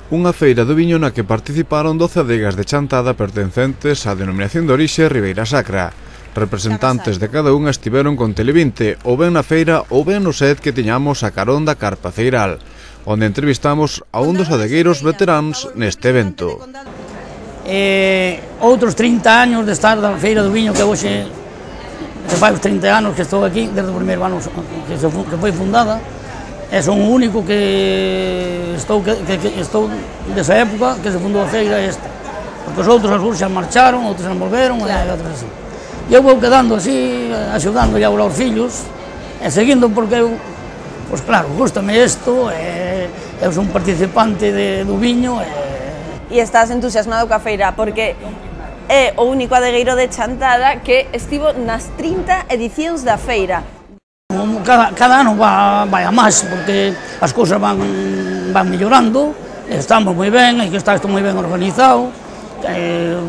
Unha feira do viño na que participaron 12 adegas de Chantada pertencentes á denominación de orixe Ribeira Sacra. Representantes de cada unha estiveron con Tele20, ou ben na feira ou ben no set que tiñamos a carón da Carpa Ceiral, onde entrevistamos a un dos adegueiros veteráns neste evento. Outros 30 anos de estar da feira do viño que hoxe, que fai os 30 anos que estou aquí, desde o primeiro ano que foi fundada. Son o único que estou desa época que se fundou a feira esta, porque os outros algúns xa marcharon, outros xa volveron, e outros así. E eu vou quedando así, axudando a os fillos, e seguindo porque eu, pois claro, gústame isto, eu son un participante do viño. E estás entusiasmado coa feira, porque é o único adegueiro de Chantada que estivo nas 30 edicións da feira. Cada ano vai a máis, porque as cousas van mellorando, estamos moi ben, e que está isto moi ben organizado,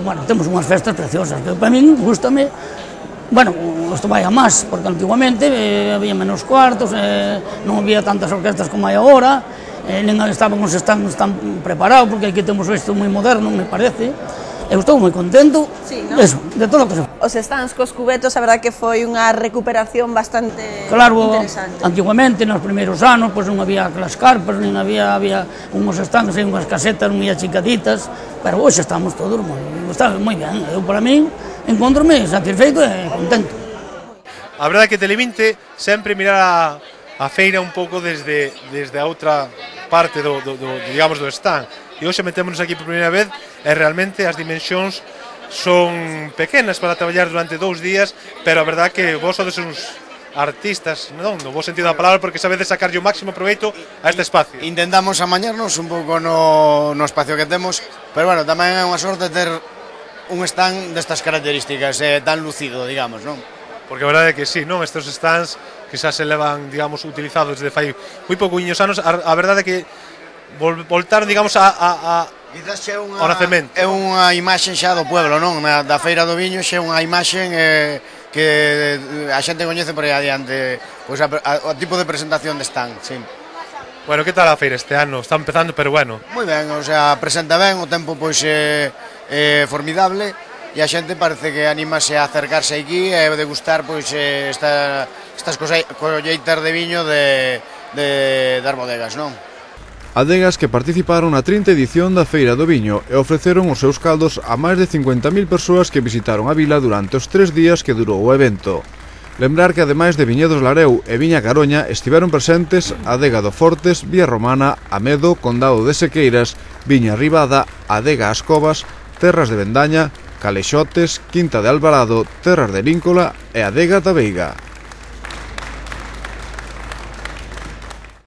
bueno, temos unhas festas preciosas, que para min gústame, bueno, isto vai a máis, porque antiguamente había menos cuartos, non había tantas orquestas como hai agora, nin estaban os stands tan preparados, porque aquí temos isto moi moderno, me parece. Eu estou moi contento, eso, de todo o que se fai. Os stands cos cubetos, a verdade que foi unha recuperación bastante interesante. Claro, antiguamente, nos primeiros anos, pois non había aquelas carpas, nin había unhos stands e unhas casetas moi achicaditas, pero hoxe estamos todos moi ben. Eu, para min, encontrome satisfeito e contento. A verdade é que Tele20 sempre mirar a feira un pouco desde a outra parte do stand. E hoxe metémonos aquí por primeira vez e realmente as dimensións son pequenas para traballar durante 2 días, pero a verdade que vos sodes uns artistas, non no bo sentido da palabra, porque sabedes sacarlle o máximo proveito a este espacio. Intentamos amañarnos un pouco no espacio que temos, pero bueno, tamén é unha sorte ter un stand destas características, tan lucido, digamos, non? Porque a verdade é que sí, non? Estes stands que xa se levan, digamos, utilizados desde fai moi pouquiños anos, a verdade é que voltaron, digamos, ao nacemento. É unha imaxe xa do pueblo, non? Da feira do viño xa é unha imaxe que a xente coñece por aí adiante, pois o tipo de presentación de stand, sí. Bueno, que tal a feira este ano? Está empezando, pero bueno. Moi ben, o sea, presenta ben, o tempo pois é formidable, e a xente parece que anímase a acercarse aquí e degustar pois estas colleitas de viño das bodegas, non? Adegas que participaron na 30 edición da Feira do Viño e ofreceron os seus caldos a máis de 50.000 persoas que visitaron a vila durante os 3 días que durou o evento. Lembrar que ademais de Viñedos Lareu e Viña Caroña estiveron presentes Adega do Fortes, Vía Romana, Amedo, Condado de Sequeiras, Viña Ribada, Adega As Covas, Terras de Vendaña, Calexotes, Quinta de Alvarado, Terras de Líncola e Adega da Veiga.